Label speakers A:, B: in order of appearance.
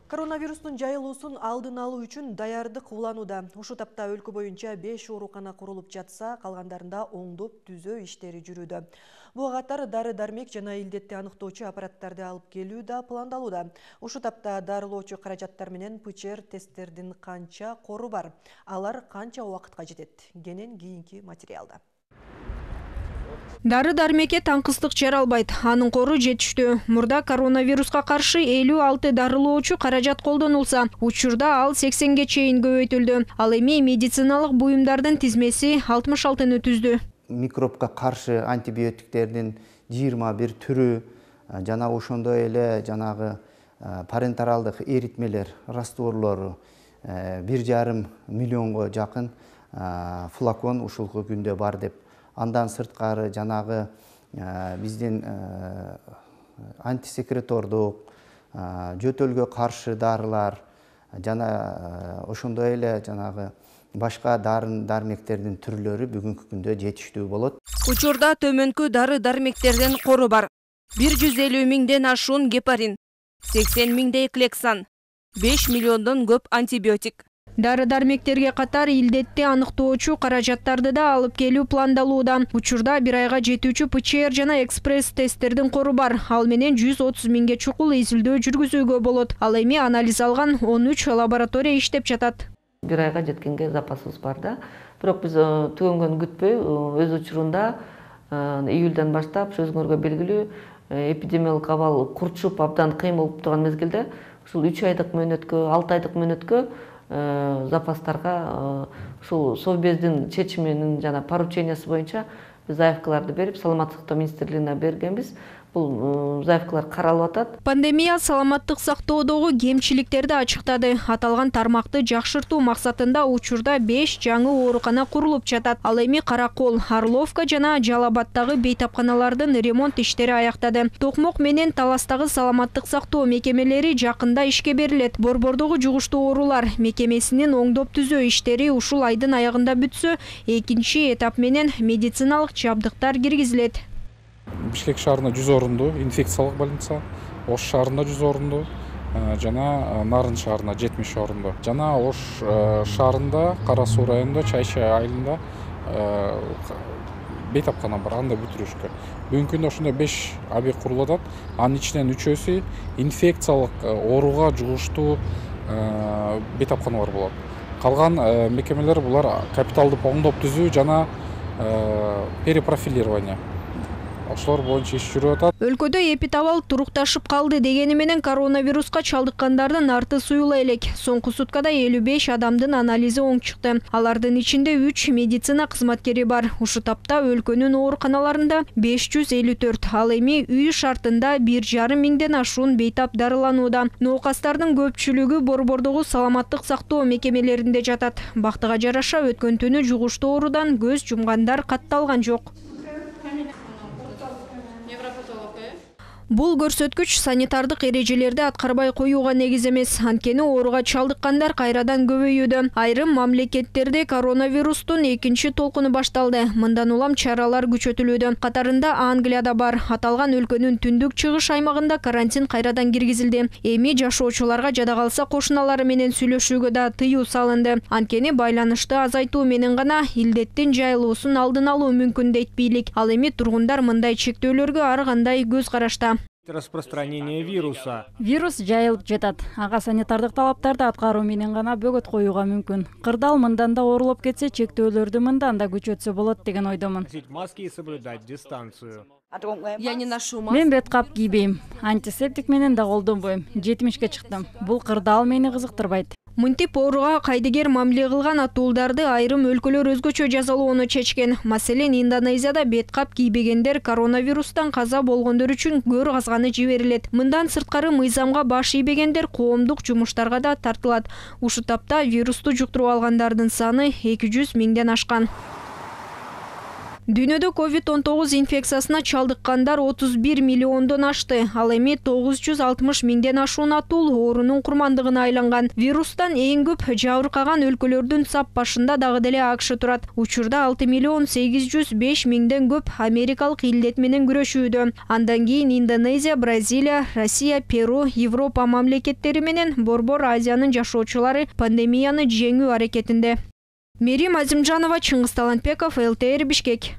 A: Коронавирустун жайылуусун алдын алуу үчүн даярдык уланууда. Ушул тапта өлкө боюнча 5 оорукана курулуп жатса, калгандарында оңдоп түзөө иштери жүрүүдө. Буга катар дары-дармек жана илдетти аныктоочу аппараттарды алып келүү да пландалууда. Ушул тапта дарылоочу каражаттар менен ПЧР тесттердин канча кору бар? Алар канча убакытка жетет? Кенен кийинки материалда.
B: Дары-дармекке таңкыстык жаралбайт, анын кору жетиштүү. Мурда коронавируска каршы 56 дарылоочу каражат колдонулса, учурда ал 80ге чейин көбөйтүлдү. Ал эми медициналык буюмдардын тизмеси 66-ны түздү.
C: Микробко каршы антибиотиктердин 21 түрү жана ошондой эле жанагы парентералдык эритмелер, растворлору 1,5 миллионго жакын флакон ушулку күндө бар деп. Андан сырткары жанагы биздин антисекретордук, жөтөлгө каршы дарылар жана ошондой эле жанагы башка дары-дармектердин түрлөрү бүгүнкү күндө жетиштүү болот.
D: Учурда төмөнкү дары-дармектердин кору бар. 150 миңден ашуун гепарин, 80 миңдей клексан, 5 миллиондон көп антибиотик.
B: Дары-дармектерге катар илдетти аныктоочу каражаттарды да алып келүү пландалууда. Учурда 1 айга жетүүчү ПЧР жана экспресс тесттердин кору бар. Ал менен 130 миңге чукул изилдөө жүргүзүүгө болот. Ал эми анализ алган 13 лаборатория иштеп жатат.
E: 1 айга жеткенге запасыбыз бар да. Бирок биз түгөнгөн күтпөй, өз учурунда июльдан баштап өзүңөргө белгилүү эпидемиологик абал курчуп абдан кыйын болуп турган мезгилде ушул 3 айдык мөөнөткө, 6 айдык мөөнөткө запастарга ушул Совбездин чечиминин жана поручениясы боюнча биз заявкаларды берип, саламаттык сактоо министрлигине бергенбиз. Бул заявкалар каралып атат.
B: Пандемия саламаттык сактоодогу кемчиликтерди ачыктады. Аталган тармакты жакшыртуу максатында учурда 5 жаңы оорукана курулуп жатат. Ал эми Каракол, Орловка жана Жалал Абадтагы бейтапканалардын ремонт иштери аяктады. Токмок менен Таластагы саламаттык сактоо мекемелери жакында ишке берилет. Борбордогу жугуштуу оорулар мекемесинин оңдоп түзөө иштери ушул айдын аягында бүтсө, экинчи этап менен медициналык жабдыктар киргизилет.
F: Бишкек шаарында 100 орунду инфекциялык больница, Ош шаарында 100 орунду, жана Нарын шаарында 70 орунду. Жана Ош шаарында, Кара Суу районунда, Чайшы айылында бейтапкана бар, анда бүтүрүшкө. Бүгүнкү күндө ошондой 5 объект курулуп атат. Анын ичинен 3-өсү инфекциялык ооруга жугуштуу бейтапканалар болот. Калган мекемелер булар капиталдык оңдоп түзүү жана перепрофилирование. Ошолор боюнча иш жүрүп атат.
B: Өлкөдө эпидабал турукташып калды дегени менен коронавируска чалдыккандардын арты суюла элек. Соңку суткада 55 адамдын анализи оң чыкты. Алардын ичинде 3 медицина кызматкери бар. Ушул тапта өлкөнүн ооруканаларында 554, ал эми үй шартында 1,5 миңден ашуун бейтап дарыланууда. Ноокастардын көпчүлүгү борбордогу саламаттык сактоо мекемелеринде жатат. Бактыга жараша өткөн түнү жугуштуу оорудан көз жумгандар катталган жок. Бул көрсөткүч санитардык эрежелерди аткарбай коюуга негиз эмес. Анткени ооруга чалдыккандар кайрадан көбөйүүдө. Айрым мамлекеттерде коронавирустун экинчи толкуну башталды. Мындан улам чаралар күчөтүлүүдө. Катарында Англияда бар. Аталган өлкөнүн түндүк чыгыш аймагында карантин кайрадан киргизилди. Эми жашоочуларга жада калса кошуналары менен сүйлөшүүгө да тыюу салынды. Анткени байланышты азайтуу менен гана илдеттин жайылуусун алдын алуу мүмкүн дейт бийлик. Ал эми тургундар мындай чектөөлөргө ар кандай көз карашта.
G: Распространение вируса.
H: Вирус жайылып жатат. Ага санитардык талаптарды аткаруу менен гана бөгөт коюуга мүмкүн. Кырдаал мындан да оорулуп кетсе, чектөөлөрдү мындан да күчөтсө болот деген ойдомун.
G: Маски и соблюдать дистанцию.
D: Я не ношу маску.
H: Мен бет кап кийбейм. Антисептик менен да колдонбойм. 70ке чыктым. Бул кырдаал мени кызыктырбайт.
B: Мынтип ооруга кайдыгер мамиле кылган атуулдарды айрым өлкөлөр өзгөчө жазалоону чечкен. Маселен, Индонезияда бет кап кийбегендер коронавирустан каза болгондор үчүн көр казганы жиберилет. Мындан сырткары мыйзамга баш ийбегендер коомдук жумуштарга да тартылат. Ушул тапта вирусту жуктуруп алгандардын саны 200 миңден ашкан. Дүйнөдө COVID-19 инфекциясына чалдыккандар 31 миллиондон ашты. Ал эми 960 миңден ашуун атул оорунун курмандыгына айланган. Вирустан эң көп жабыркаган өлкөлөрдүн сап башында дагы деле АКШ турат. Учурда 6 миллион 805 миңден көп америкалык илдет менен күрөшүүдө. Андан кийин Индонезия, Бразилия, Россия, Перу, Европа мамлекеттери менен Борбор Азиянын жашоочулары пандемияны жеңүү аракетинде. Мерим Азимжанова, Чыңгыз Талантбеков, ЛТР, Бишкек.